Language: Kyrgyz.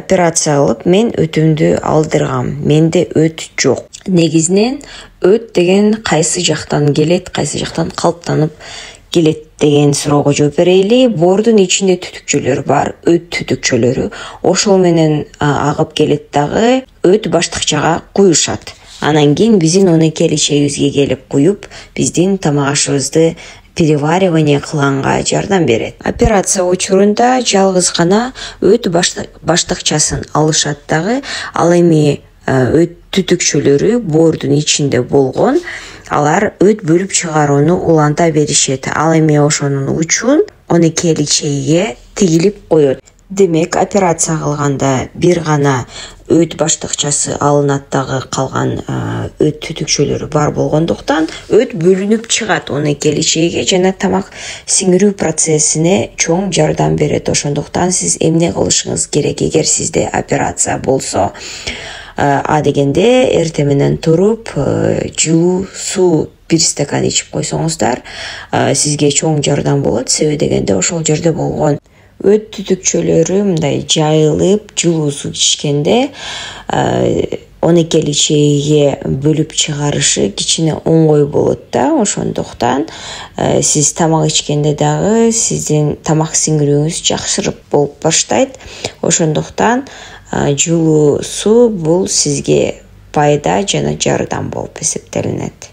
операция кылып мен өтүмдү алдыргам. Менде өт жок. Негизинен өт деген кайсы жактан келет, кайсы жактан калыптанып келет деген суроого жооп берели. Боордун ичинде түтүкчөлөр бар, өт түтүкчөлөрү. Ошол менен агып келет дагы өт баштыкчага куюшат. Анан кийин биздин онекелүү чегибизге келип куюп, биздин тамак ашыбызды переваривание кылганга жардам берет. Операция учурунда жалгыз гана өт баштыкчасын алышат дагы. Ал эми өт түтүкчөлөрү боордун ичинде болгон. Алар өт бөлүп чыгарууну уланта беришет. Ал эми ошонун учун онекелүү чегиге тигилип коет. Демек, операция кылганда бир гана өт баштыкчасы алынат дагы калган өт түтүкчөлөрү бар болгондуктан өт бөлүнүп чыгат онекелүү чегиге жана тамак сиңирүү процессине чоң жардам берет. Ошондуктан сиз эмне кылышыңыз керек эгер сизде операция болсо? Дегенде эртең менен туруп жылуу суу 1 стакан ичип койсоңуздар, сизге чоң жардам болот. Себеби дегенде ошол жерде болгон өт түтүкчөлөрү мындай жайылып, жылуу суу ичкенде онекелүү чегиге бөлүп чыгарышы кичине оңой болот да. Ошондуктан сиз тамак ичкенде дагы сиздин тамак сиңирүүңүз жакшырып болуп баштайт. Ошондуктан жылуу суу бул сизге пайда жана жардам болуп эсептелинет.